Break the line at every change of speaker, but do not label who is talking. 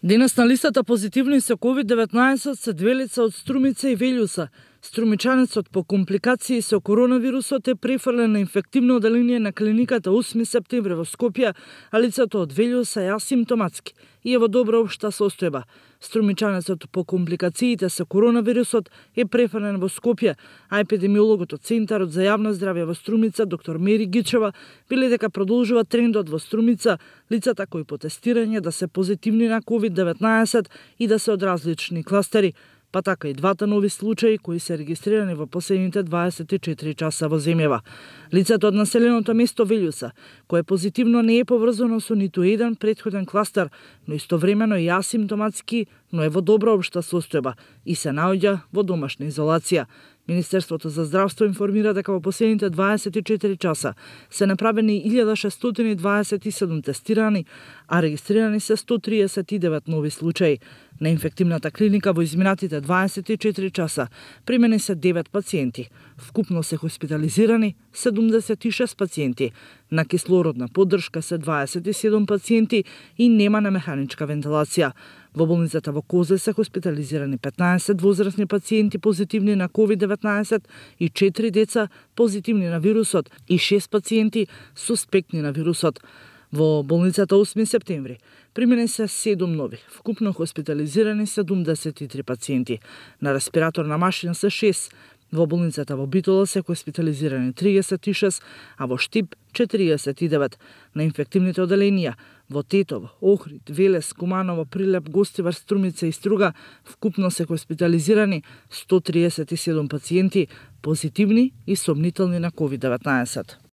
Денес на листата позитивни со COVID-19 се две лица од Струмица и Велјуса. Струмичанецот по компликации со коронавирусот е префрлен на инфективно оделение на клиниката 8 септември во Скопје, а лицето од Велјуса е асимптоматски и е во добра општа состојба. Струмичанецот по компликациите со коронавирусот е префрлен во Скопје, а епидемиологот од Центарот за јавно здравје во Струмица, доктор Мери Гичева, вели дека продолжува трендот во Струмица лицата кои по тестирање да се позитивни на COVID-19 и да се од различни кластери, па така и двата нови случаи кои се регистрирани во последните 24 часа во земјава. Лицето од населеното место Велјуса, кое позитивно не е поврзано со ниту еден претходен кластер, но истовремено и асимптоматски, но е во добра општа состојба и се наоѓа во домашна изолација. Министерството за здравство информира дека во последните 24 часа се направени 1627 тестирани, а регистрирани се 139 нови случаи. На инфективната клиника во изминатите 24 часа примени се 9 пациенти. Вкупно се хоспитализирани 76 пациенти. На кислородна поддршка се 27 пациенти и нема на механичка вентилација. Во болницата во Козле се хоспитализирани 15 возрастни пациенти позитивни на COVID-19 и 4 деца позитивни на вирусот и 6 пациенти суспектни на вирусот. Во болницата 8 септември примени се 7 нови, вкупно хоспитализирани 73 пациенти. На респираторна машина се 6. Во болницата во Битола се хоспитализирани 36, а во Штип 49. На инфективните оделенија во Тетово, Охрид, Велес, Куманово, Прилеп, Гостивар, Струмица и Струга вкупно се хоспитализирани 137 пациенти позитивни и сомнителни на COVID-19.